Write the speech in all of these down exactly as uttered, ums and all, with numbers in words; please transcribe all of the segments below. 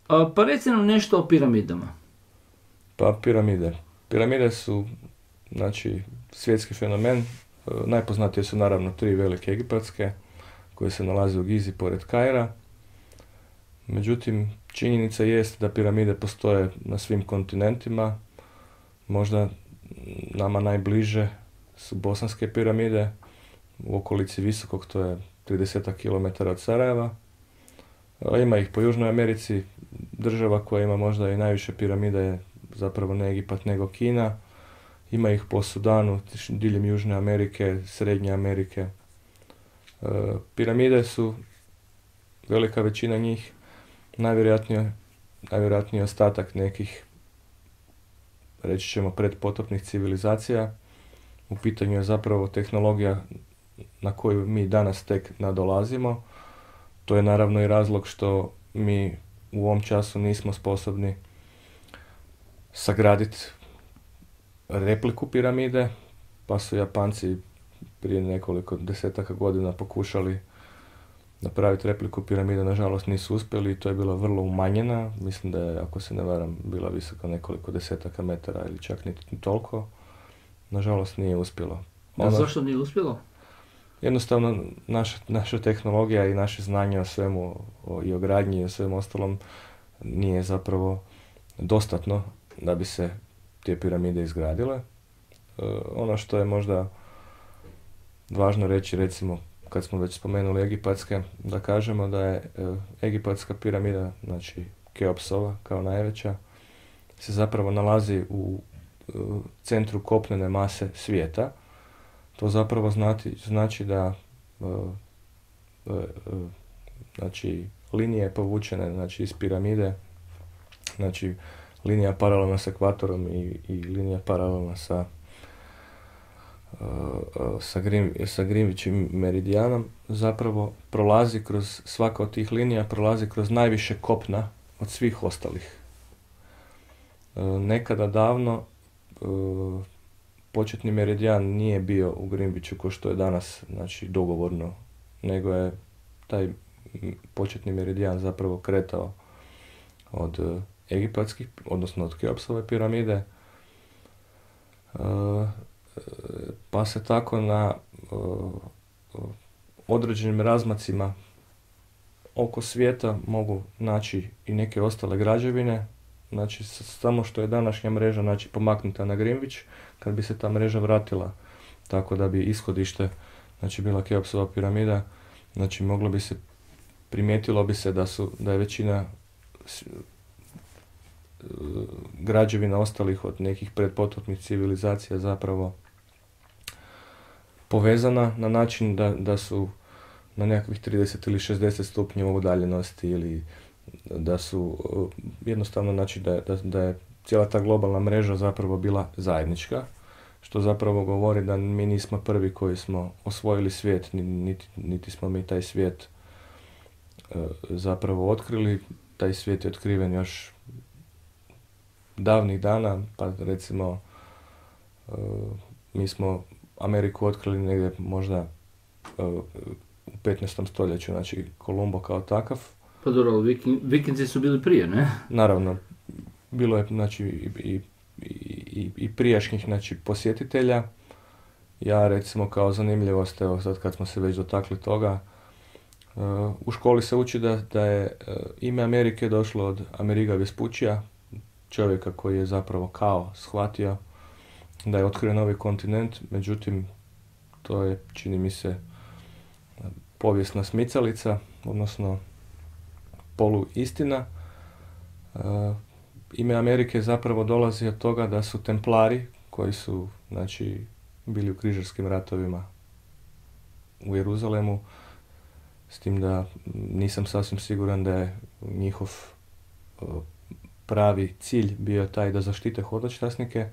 A, pa reci nam nešto o piramidama. Pa piramide. Piramide su, znači, svjetski fenomen. E, najpoznatije su naravno tri velike egipatske, koje se nalaze u Gizi pored Kaira. Međutim, činjenica jest da piramide postoje na svim kontinentima. Možda nama najbliže su bosanske piramide u okolici Visokog, to je trideset kilometara od Sarajeva. A ima ih po Južnoj Americi. Država koja ima možda i najviše piramida je zapravo ne Egipat nego Kina. Ima ih po Sudanu, diljem Južne Amerike, Srednje Amerike. E, piramide su, velika većina njih, najvjerojatnije, najvjerojatnije ostatak nekih, reći ćemo, predpotopnih civilizacija. U pitanju je zapravo tehnologija na koju mi danas tek nadolazimo. To je naravno i razlog što mi u ovom času nismo sposobni sagraditi repliku piramide, pa su Japanci prije nekoliko desetaka godina pokušali napraviti repliku piramide, nažalost nisu uspjeli i to je bila vrlo umanjena. Mislim da je, ako se ne varam, bila visoka nekoliko desetaka metara ili čak niti toliko. Nažalost nije uspjelo. A Ono, zašto nije uspjelo? jednostavno naša, naša tehnologija i naše znanje o svemu, o, i o gradnji i o svemu ostalom nije zapravo dostatno da bi se te piramide izgradile. E, ono što je možda važno reći, recimo, kad smo već spomenuli egipatske, da kažemo da je e, egipatska piramida, znači Keopsova kao najveća, se zapravo nalazi u e, centru kopnene mase svijeta. To zapravo znati, znači da e, e, e, znači, linije povučene, znači, iz piramide, znači linija paralelna s ekvatorom i, i linija paralelna sa uh, sa, Grim, sa Greenwichim meridijanom, zapravo prolazi kroz, svaka od tih linija prolazi kroz najviše kopna od svih ostalih. Uh, nekada davno uh, početni meridijan nije bio u Greenwichu kao što je danas, znači dogovorno, nego je taj početni meridijan zapravo kretao od uh, egipatskih, odnosno od Keopsove piramide, uh, pa se tako na uh, određenim razmacima oko svijeta mogu naći i neke ostale građevine. Znači, samo što je današnja mreža, znači, pomaknuta na Greenwich, kad bi se ta mreža vratila tako da bi ishodište, znači, bila Keopsova piramida, znači, moglo bi se, primijetilo bi se da su, da je većina građevina ostalih od nekih predpotopnih civilizacija zapravo povezana na način da, da su na nekakvih trideset ili šezdeset stupnjeva udaljenosti, ili da su jednostavno, znači, da, da, da je cijela ta globalna mreža zapravo bila zajednička, što zapravo govori da mi nismo prvi koji smo osvojili svijet, niti, niti smo mi taj svijet zapravo otkrili. Taj svijet je otkriven još davnih dana, pa recimo uh, mi smo Ameriku otkrili negdje možda uh, u petnaestom stoljeću, znači Kolumbo kao takav. Pa dobro, viking, vikinzi su bili prije, ne? Naravno, bilo je, znači, i, i, i, i prijašnjih, znači, posjetitelja. Ja, recimo, kao zanimljivost, evo sad kad smo se već dotakli toga, uh, u školi se uči da, da je uh, ime Amerike došlo od Ameriga Vespuccija, čovjeka koji je zapravo kao shvatio da je otkrio novi kontinent. Međutim, to je, čini mi se, povijesna smicalica, odnosno polu istina. Uh, ime Amerike zapravo dolazi od toga da su templari, koji su, znači, bili u križarskim ratovima u Jeruzalemu, s tim da nisam sasvim siguran da je njihov uh, pravi cilj bio taj da zaštite hodočasnike.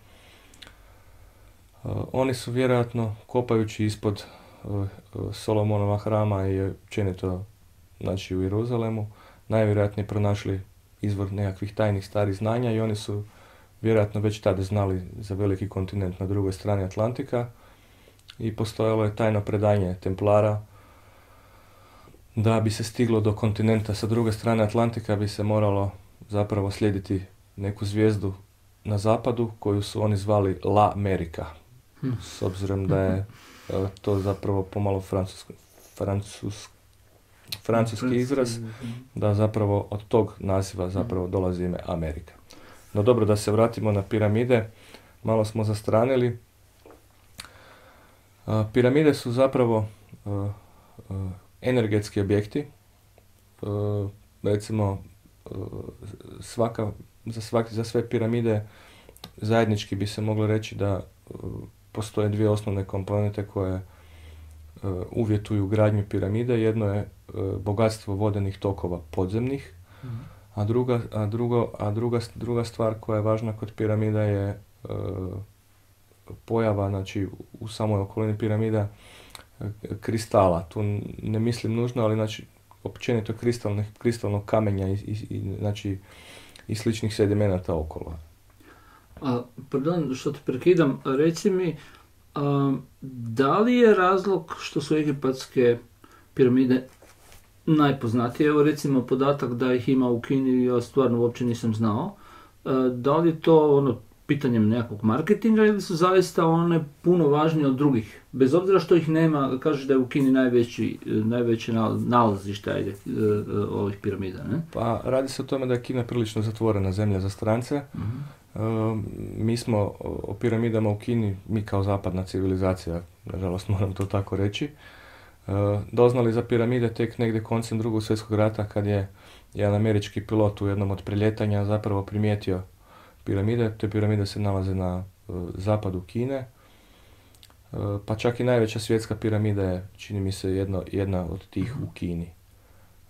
Uh, oni su vjerojatno, kopajući ispod uh, Solomonova hrama i općenito, znači, u Jeruzalemu, najvjerojatnije pronašli izvor nekakvih tajnih starih znanja i oni su vjerojatno već tada znali za veliki kontinent na drugoj strani Atlantika i postojalo je tajno predanje Templara da bi se stiglo do kontinenta sa druge strane Atlantika bi se moralo zapravo slijediti neku zvijezdu na zapadu koju su oni zvali La Amerika. Hm. S obzirom da je e, to zapravo pomalo francuski, francus, francuski izraz, da zapravo od tog naziva zapravo dolazi ime Amerika. No dobro, da se vratimo na piramide, malo smo zastranili. A, piramide su zapravo a, a, energetski objekti. A, recimo, a, svaka, za, svaki, za sve piramide zajednički bi se moglo reći da a, postoje dvije osnovne komponente koje a, uvjetuju gradnju piramide. Jedno je a, bogatstvo vodenih tokova podzemnih, mm. a, druga, a, drugo, a druga, druga stvar koja je važna kod piramida je a, pojava, znači u samoj okolini piramida kristala. Tu ne mislim nužno, ali znači općenito kristalnog kamenja i, i, i, znači, i sličnih sedimenata okolo. A, pardon, što te prekidam, reci mi, a, da li je razlog što su egipatske piramide najpoznatije? Evo recimo podatak da ih ima u Kini, ja stvarno uopće nisam znao. A, da li to ono pitanjem nekakvog marketinga ili su zaista one puno važnije od drugih? Bez obzira što ih nema, kažeš da je u Kini najveći, najveće nalazište ajde, ovih piramida, ne? Pa radi se o tome da je Kina prilično zatvorena zemlja za strance. Uh-huh. Uh, mi smo o piramidama u Kini, mi kao zapadna civilizacija, nažalost moram to tako reći, uh, doznali za piramide tek negdje koncem Drugog svjetskog rata kad je jedan američki pilot u jednom od preljetanja zapravo primijetio piramide. Te piramide se nalaze na uh, zapadu Kine, uh, pa čak i najveća svjetska piramida je, čini mi se, jedno, jedna od tih u Kini.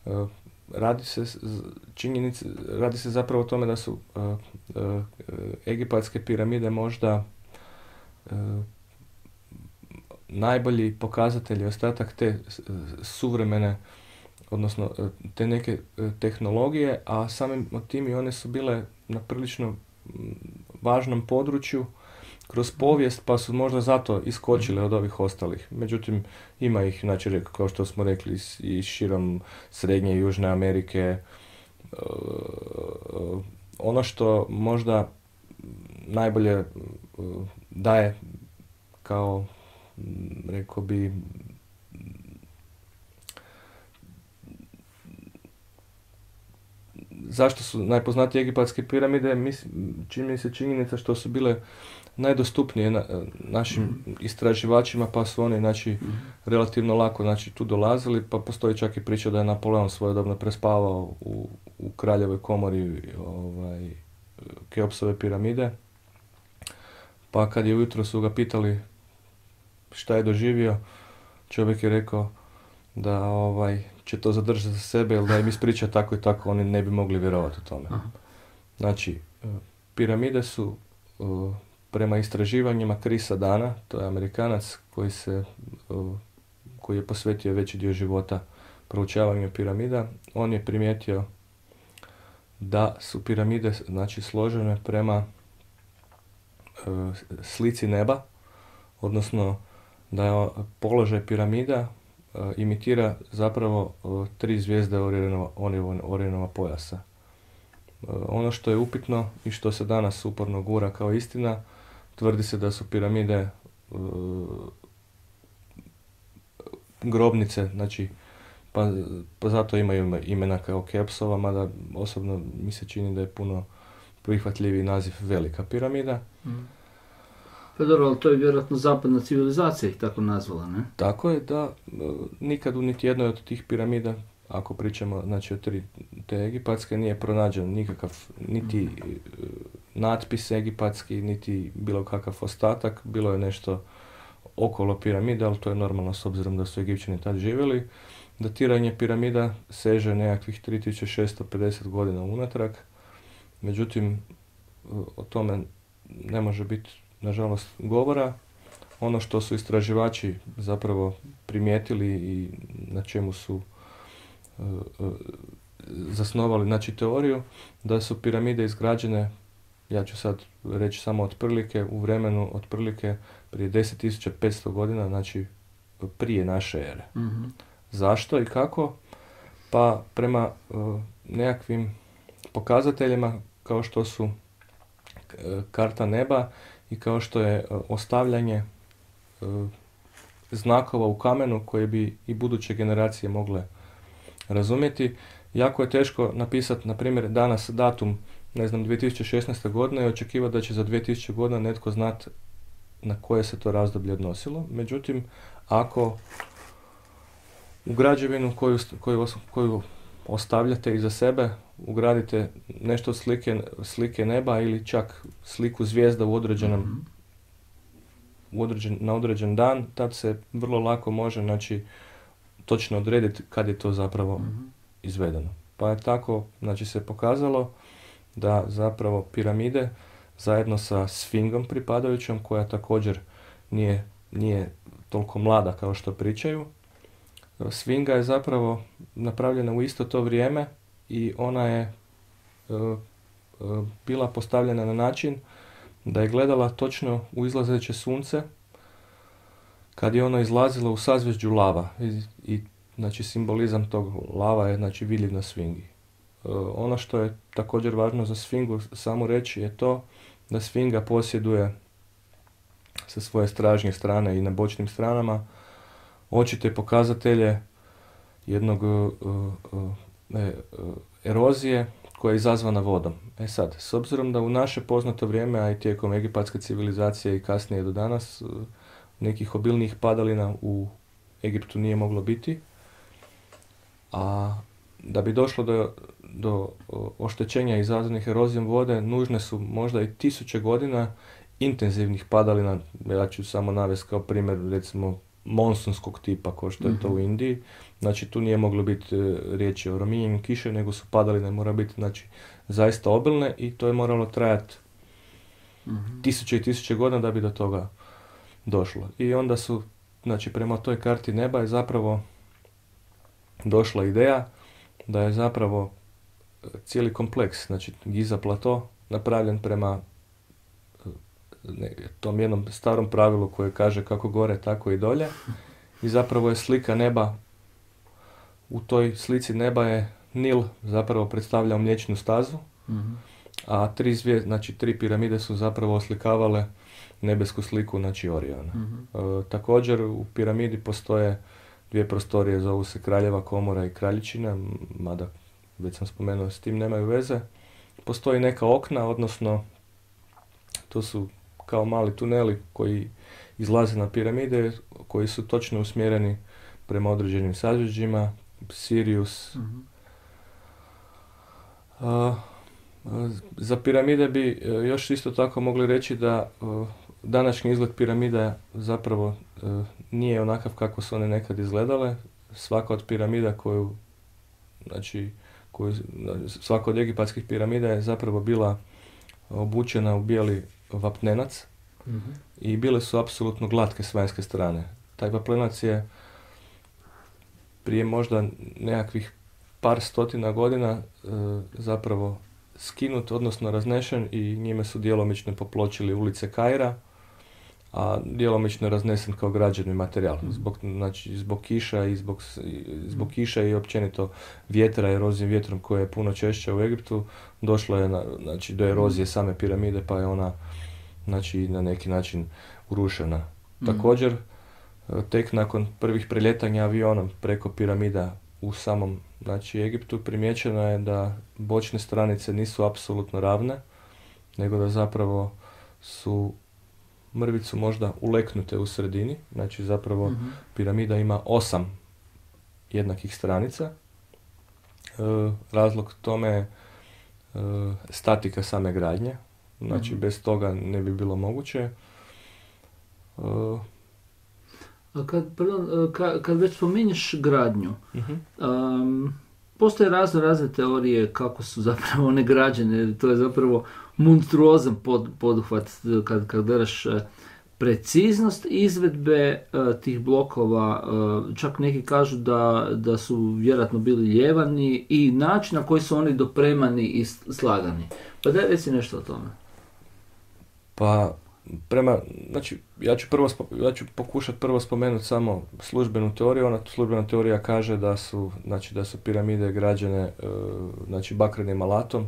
Uh, radi se činjenice, radi se zapravo o tome da su uh, uh, egipatske piramide možda uh, najbolji pokazatelji, ostatak te uh, suvremene, odnosno uh, te neke uh, tehnologije, a samim tim i one su bile na prilično važnom području kroz povijest, pa su možda zato iskočile od ovih ostalih. Međutim, ima ih, znači, kao što smo rekli, i širom Srednje i Južne Amerike. Ono što možda najbolje daje kao, rekao bi, zašto su najpoznatije egipatske piramide, mislim, čini mi se činjenica što su bile najdostupnije na, našim mm-hmm. istraživačima, pa su oni, znači, mm-hmm. relativno lako, znači, tu dolazili, pa postoji čak i priča da je Napoleon svojedobno prespavao u, u kraljevoj komori ovaj, Keopsove piramide, pa kad je ujutro su ga pitali šta je doživio, čovjek je rekao da ovaj, će to zadržati za sebe, ili da im ispriča tako i tako, oni ne bi mogli vjerovati u tome. Aha. Znači, piramide su uh, prema istraživanjima Chrisa Dana, to je Amerikanac koji, se, uh, koji je posvetio veći dio života proučavanju piramida, on je primijetio da su piramide, znači, složene prema uh, slici neba, odnosno da je položaj piramida uh, imitira zapravo uh, tri zvijezde Orionova, Orionova pojasa. Uh, ono što je upitno i što se danas uporno gura kao istina, tvrdi se da su piramide uh, grobnice, znači, pa, pa zato imaju imena kao Keopsova, mada osobno mi se čini da je puno prihvatljiviji naziv Velika piramida. Mm. Pa dobro, ali to je vjerojatno zapadna civilizacija ih tako nazvala, ne? Tako je, da, nikad u niti jednoj od tih piramida, ako pričamo, znači, o tri te egipatske, nije pronađen nikakav niti mm. natpis egipatski, niti bilo kakav ostatak, bilo je nešto okolo piramide, ali to je normalno s obzirom da su Egipćani tad živjeli. Datiranje piramida seže nekakvih tri tisuće šesto pedeset godina unatrag, međutim, o tome ne može biti, nažalost, govora. Ono što su istraživači zapravo primijetili i na čemu su uh, uh, zasnovali, znači, teoriju, da su piramide izgrađene, ja ću sad reći samo otprilike, u vremenu otprilike prije deset tisuća petsto godina, znači prije naše ere. Mm-hmm. Zašto i kako? Pa prema uh, nekakvim pokazateljima kao što su karta neba i kao što je ostavljanje znakova u kamenu koje bi i buduće generacije mogle razumjeti. Jako je teško napisati, na primjer, danas datum, ne znam, dvije tisuće šesnaeste. godine i očekivati da će za dvije tisuće godina netko znati na koje se to razdoblje odnosilo. Međutim, ako u građevinu koju, koju, koju ostavljate iza sebe, ugradite nešto od slike, slike neba ili čak sliku zvijezda u određenom, mm-hmm. u određen, na određen dan, tad se vrlo lako može, znači, točno odrediti kad je to zapravo mm-hmm. izvedeno. Pa je tako, znači, se pokazalo da zapravo piramide zajedno sa sfingom pripadajućom, koja također nije, nije toliko mlada kao što pričaju. Sfinga je zapravo napravljena u isto to vrijeme i ona je uh, uh, bila postavljena na način da je gledala točno u izlazeće sunce kad je ono izlazilo u sazvježđu lava i, i znači simbolizam tog lava je, znači, vidljiv na sfingi. Uh, ono što je također važno za sfingu samo reći je to da sfinga posjeduje sa svoje stražnje strane i na bočnim stranama očite pokazatelje jednog uh, uh, ne, uh, erozije koja je izazvana vodom. E sad, s obzirom da u naše poznato vrijeme, a i tijekom egipatske civilizacije i kasnije do danas, uh, nekih obilnijih padalina u Egiptu nije moglo biti, a da bi došlo do, do oštećenja izazvanih erozijom vode, nužne su možda i tisuće godina intenzivnih padalina. Ja ću samo navesti kao primjer, recimo, monsunskog tipa, kao što je to u Indiji. Znači, tu nije moglo biti e, riječi o rominjenju kiše, nego su padaline mora biti, znači, zaista obilne i to je moralo trajati mm-hmm. tisuće i tisuće godina da bi do toga došlo. I onda su, znači, prema toj karti neba je zapravo došla ideja da je zapravo cijeli kompleks, znači Giza plato, napravljen prema ne, tom jednom starom pravilu koje kaže kako gore, tako i dolje. I zapravo je slika neba, u toj slici neba je Nil zapravo predstavljao mliječnu stazu, mm-hmm. a tri, zvije, znači, tri piramide su zapravo oslikavale nebesku sliku, znači Oriona. Mm-hmm. E, također u piramidi postoje dvije prostorije, zovu se Kraljeva komora i Kraljičina, mada već sam spomenuo, s tim nemaju veze. Postoji neka okna, odnosno to su kao mali tuneli koji izlaze na piramide, koji su točno usmjereni prema određenim sazvježđima, Sirius. Mm-hmm. A, a, za piramide bi još isto tako mogli reći da a, današnji izgled piramida zapravo a, nije onakav kako su one nekad izgledale. Svaka od piramida koju, znači, koju, svaka od egipatskih piramida je zapravo bila obučena u bijeli vapnenac, mm-hmm. i bile su apsolutno glatke s vanjske strane. Taj vapnenac je prije možda nekakvih par stotina godina e, zapravo skinut, odnosno raznešen, i njime su djelomično popločili ulice Kaira, a djelomično je raznesen kao građevni materijal. Mm-hmm. Zbog, znači, zbog kiša i zbog, zbog kiša i općenito vjetra, erozije vjetrom koja je puno češća u Egiptu, došlo je na, znači, do erozije same piramide, pa je ona, znači, na neki način urušena. Mm-hmm. Također, tek nakon prvih preljetanja avionom preko piramida u samom, znači, Egiptu, primijećeno je da bočne stranice nisu apsolutno ravne, nego da zapravo su mrvicu možda uleknute u sredini. Znači, zapravo mm-hmm. piramida ima osam jednakih stranica. E, razlog tome je e, statika same gradnje. Znači, mm-hmm. bez toga ne bi bilo moguće. E, A kad, pardon, kad, kad već spominješ gradnju, uh-huh. um, postoje razne razne teorije kako su zapravo one građene. To je zapravo monstruozan pod, poduhvat kad, kad gledaš preciznost izvedbe uh, tih blokova. Uh, čak neki kažu da, da su vjerojatno bili ljevani i način na koji su oni dopremani i slagani. Pa daj reci nešto o tome. Pa prema, znači, ja ću, prvo, ja ću pokušati prvo spomenuti samo službenu teoriju. Ona službena teorija kaže da su, znači, da su piramide građene, e, znači, bakrenim alatom,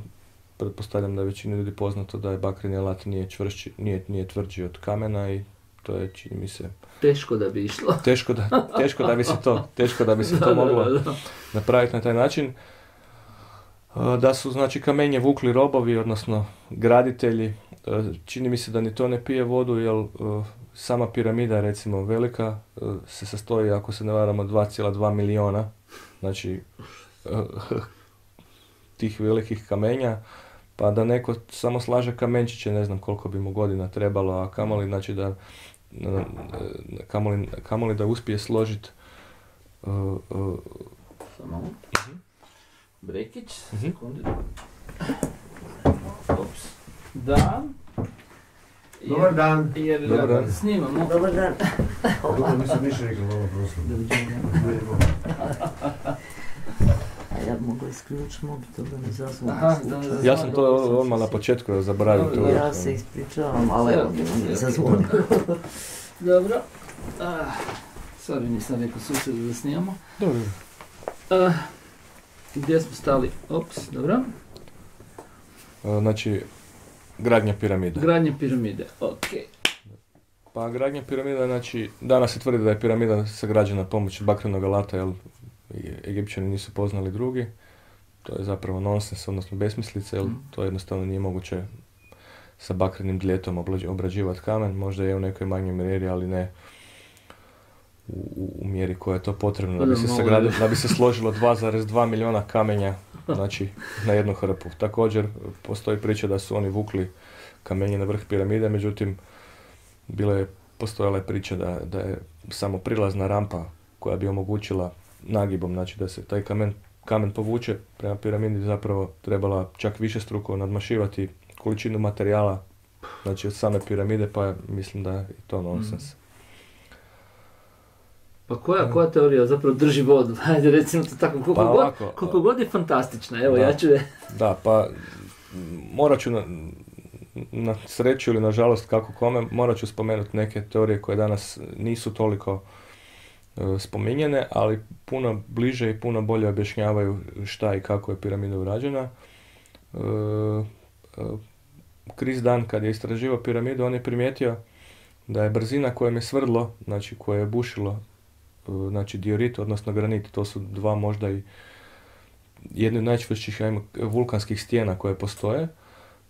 pretpostavljam da je većini ljudi poznato da je bakreni alat nije, čvršći, nije, nije tvrđi od kamena i to je, čini mi se... Teško da bi išlo. Teško da, teško da bi se to, teško da bi se to moglo da, da, da. napraviti na taj način. Da su, znači, kamenje vukli robovi, odnosno graditelji. Čini mi se da ni to ne pije vodu, jer sama piramida, recimo, velika, se sastoji, ako se ne varamo, dva zarez dva miliona, znači, tih velikih kamenja, pa da neko samo slaže kamenčiće, ne znam koliko bi mu godina trebalo, a kamoli, znači, da kamoli, kamoli da uspije složiti uh, uh, samo uh-huh. brekić, uh-huh. sekundi. Ups. Dan. Dobar dan. Jer Dobar dan. Snimamo. Dobar dan. Dobro, nisam ništa rekao, ovo prosto. A ja mogu isključiti mobitel da ne zazvoni. Ja sam to odmah na početku zaboravio. To ja se ispričavam, ali evo mi ne zazvoni. Dobro. Ah, sorry, nisam rekao susjedu da snimamo. Dobro. Ah, gdje smo stali? Ops, dobro. Znači, gradnja piramide. Gradnja piramide, ok. Pa gradnja piramida, znači, danas se tvrdi da je piramida sagrađena pomoću bakrenog alata, jer Egipćani nisu poznali drugi. To je zapravo nonsens, odnosno besmislica, jer mm. to jednostavno nije moguće sa bakrenim dljetom obrađivati kamen. Možda je u nekoj manjoj mjeri, ali ne u, u mjeri koja je to potrebno da bi se, sagradilo, da bi se složilo dva zarez dva miliona kamenja, znači, na jednu hrpu. Također, postoji priča da su oni vukli kamenje na vrh piramide, međutim, bila je, postojala je priča da, da je samo prilazna rampa koja bi omogućila nagibom, znači da se taj kamen, kamen povuče prema piramidi, zapravo trebala čak više struko nadmašivati količinu materijala, znači od same piramide, pa mislim da je to nonsens. Mm. Pa koja, koja teorija zapravo drži vodu? Hajde, recimo to tako, koliko, pa god, ovako, koliko god je fantastična, evo da, ja ću je... Da, pa morat ću na, na sreću ili na žalost kako kome, morat ću spomenuti neke teorije koje danas nisu toliko uh, spominjene, ali puno bliže i puno bolje objašnjavaju šta i kako je piramida urađena. Uh, uh, Chris Dunn, kad je istraživao piramidu, on je primijetio da je brzina kojom je svrdlo, znači koje je bušilo, znači diorit, odnosno granit, to su dva možda i jedne od najčvršćih ajmo, vulkanskih stijena koje postoje.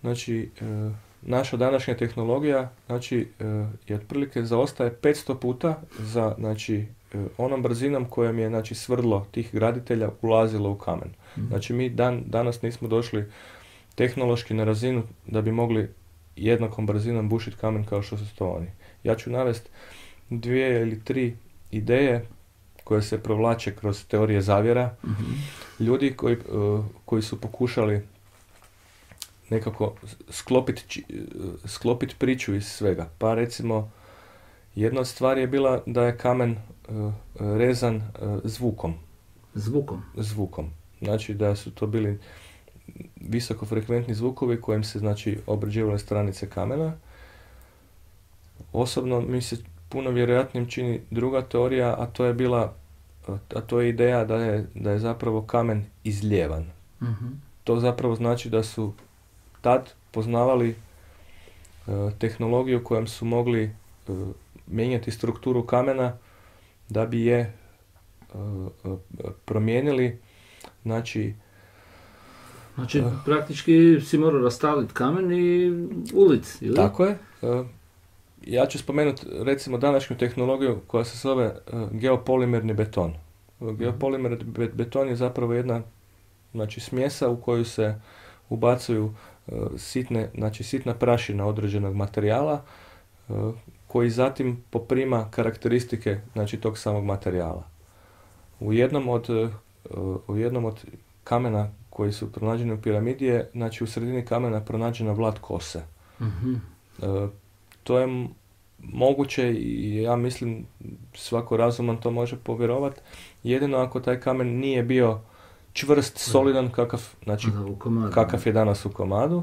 Znači, e, naša današnja tehnologija, znači, e, je otprilike zaostaje petsto puta za, znači, e, onom brzinom kojom je, znači, svrdlo tih graditelja ulazilo u kamen. Mm-hmm. Znači, mi dan, danas nismo došli tehnološki na razinu da bi mogli jednakom brzinom bušiti kamen kao što su to oni. Ja ću navesti dvije ili tri ideje koje se provlače kroz teorije zavjera. Mm-hmm. Ljudi koji, uh, koji su pokušali nekako sklopiti sklopit priču iz svega. Pa recimo, jedna od stvari je bila da je kamen uh, rezan uh, zvukom. Zvukom? Zvukom. Znači da su to bili visokofrekventni zvukovi kojim se, znači, obrađivale stranice kamena. Osobno mi se puno vjerojatnijim čini druga teorija, a to je bila, a to je ideja da je, da je zapravo kamen izljevan. Mm-hmm. To zapravo znači da su tad poznavali uh, tehnologiju kojom su mogli uh, mijenjati strukturu kamena da bi je uh, uh, promijenili, znači Znači, uh, praktički si morao rastaviti kamen i ulic, ili? Tako je. Uh, Ja ću spomenuti recimo današnju tehnologiju koja se zove uh, geopolimerni beton. Uh, geopolimerni be- beton je zapravo jedna, znači, smjesa u koju se ubacuju uh, sitne, znači, sitna prašina određenog materijala uh, koji zatim poprima karakteristike, znači, tog samog materijala. U jednom od, uh, u jednom od kamena koji su pronađeni u piramidi je, znači, u sredini kamena pronađena vlat kose. Mm-hmm. Uh, To je moguće i ja mislim svako razuman to može povjerovati, jedino ako taj kamen nije bio čvrst, solidan kakav, znači, kakav je danas u komadu.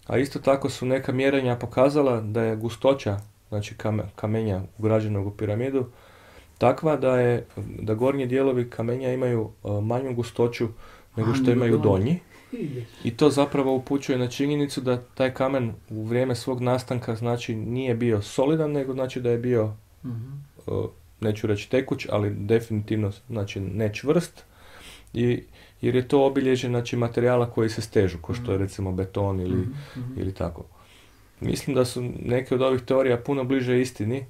A isto tako su neka mjerenja pokazala da je gustoća, znači, kamenja ugrađenog u piramidu takva da je da gornji dijelovi kamenja imaju uh, manju gustoću nego što imaju donji. I to zapravo upućuje na činjenicu da taj kamen u vrijeme svog nastanka znači nije bio solidan, nego znači da je bio, mm-hmm. uh, neću reći tekuć, ali definitivno znači ne čvrst, i, jer je to obilježje znači materijala koji se stežu, kao što je recimo beton ili, mm-hmm. ili tako. Mislim da su neke od ovih teorija puno bliže istini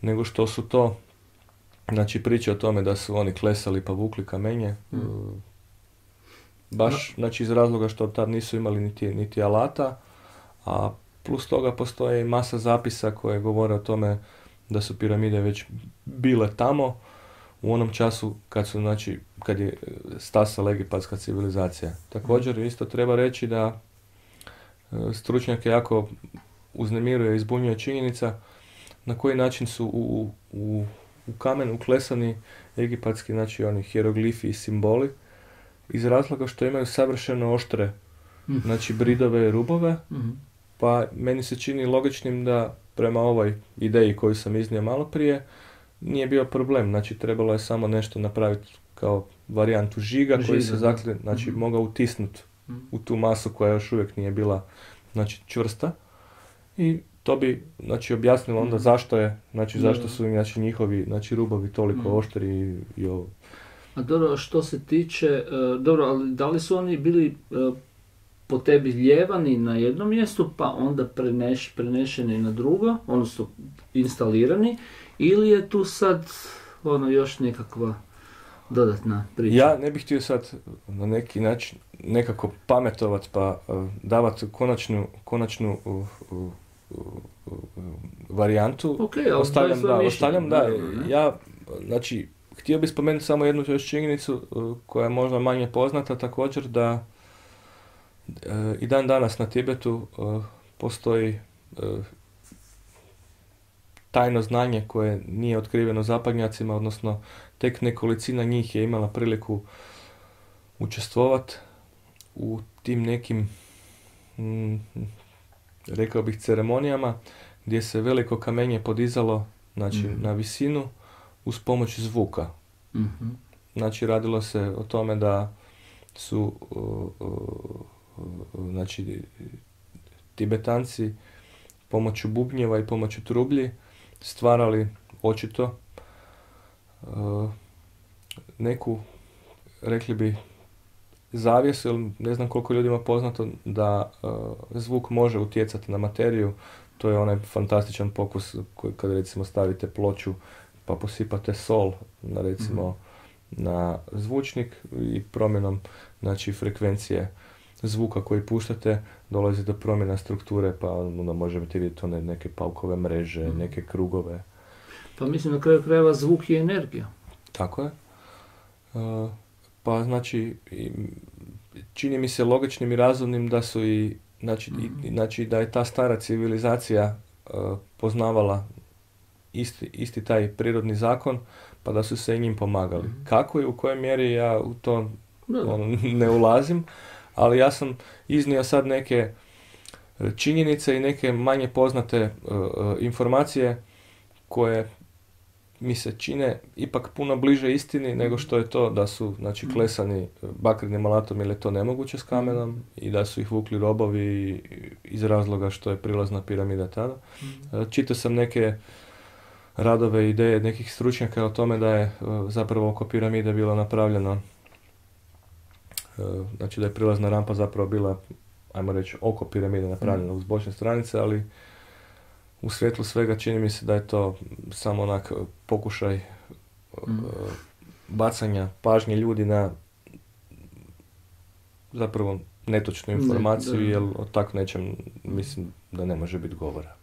nego što su to, znači priče o tome da su oni klesali pa vukli kamenje, mm. uh, baš znači iz razloga što tad nisu imali niti, niti alata, a plus toga postoje masa zapisa koje govore o tome da su piramide već bile tamo u onom času kad su, znači, kad je stasala egipatska civilizacija. Također isto treba reći da stručnjake jako uznemiruje i zbunjuje činjenica na koji način su u, u, u kamen uklesani egipatski, znači oni hieroglifi i simboli, iz razloga što imaju savršeno oštre, mm. znači bridove i rubove, mm. pa meni se čini logičnim da prema ovoj ideji koju sam iznio malo prije, nije bio problem, znači trebalo je samo nešto napraviti kao varijantu žiga, žiga koji se zakli, znači mm. mogao utisnuti mm. u tu masu koja još uvijek nije bila, znači, čvrsta, i to bi, znači, objasnilo onda mm. zašto je, znači mm. zašto su znači, njihovi, znači, rubovi toliko mm. oštri i, i ovo. A dobro, što se tiče, uh, dobro, ali da li su oni bili uh, po tebi ljevani na jednom mjestu, pa onda preneš, prenešeni na drugo, odnosno instalirani, ili je tu sad ono još nekakva dodatna priča? Ja ne bih htio sad na neki način nekako pametovat pa uh, davati konačnu, konačnu uh, uh, uh, uh, varijantu. Okay, ostavljam, da, ostavljam, da, ja, znači, htio bih spomenuti samo jednu još činjenicu uh, koja je možda manje poznata također, da uh, i dan danas na Tibetu uh, postoji uh, tajno znanje koje nije otkriveno zapadnjacima, odnosno tek nekolicina njih je imala priliku učestvovati u tim nekim, mm, rekao bih, ceremonijama gdje se veliko kamenje podizalo, znači, mm-hmm. na visinu uz pomoć zvuka. Mm-hmm. Znači, radilo se o tome da su uh, uh, znači, Tibetanci pomoću bubnjeva i pomoću trublji stvarali očito uh, neku, rekli bi, zavjesu, jer ne znam koliko ljudima poznato da uh, zvuk može utjecati na materiju. To je onaj fantastičan pokus koji kad recimo stavite ploču pa posipate sol na recimo mm-hmm. na zvučnik i promjenom, znači, frekvencije zvuka koji puštate dolazi do promjena strukture, pa onda možete vidjeti one neke paukove mreže, mm. neke krugove. Pa mislim, na kraju krajeva zvuk je energija. Tako je. Uh, pa znači, i, čini mi se logičnim i razumnim da su i, znači, mm. i, znači da je ta stara civilizacija uh, poznavala isti, isti taj prirodni zakon, pa da su se i njim pomagali. Mm. Kako i u kojoj mjeri ja u to on, ne ulazim, ali ja sam iznio sad neke činjenice i neke manje poznate uh, informacije koje mi se čine ipak puno bliže istini nego što je to da su, znači, klesani bakrenim alatom, jer je to nemoguće s kamenom, i da su ih vukli robovi iz razloga što je prilazna piramida tada. Uh, čitao sam neke radove i ideje nekih stručnjaka o tome da je uh, zapravo oko piramide bilo napravljeno, znači da je prilazna rampa zapravo bila, ajmo reći, oko piramide napravljena mm. uz bočne stranice, ali u svjetlu svega čini mi se da je to samo onak pokušaj mm. uh, bacanja pažnje ljudi na zapravo netočnu informaciju, ne, jer o tako nečem mislim da ne može biti govora.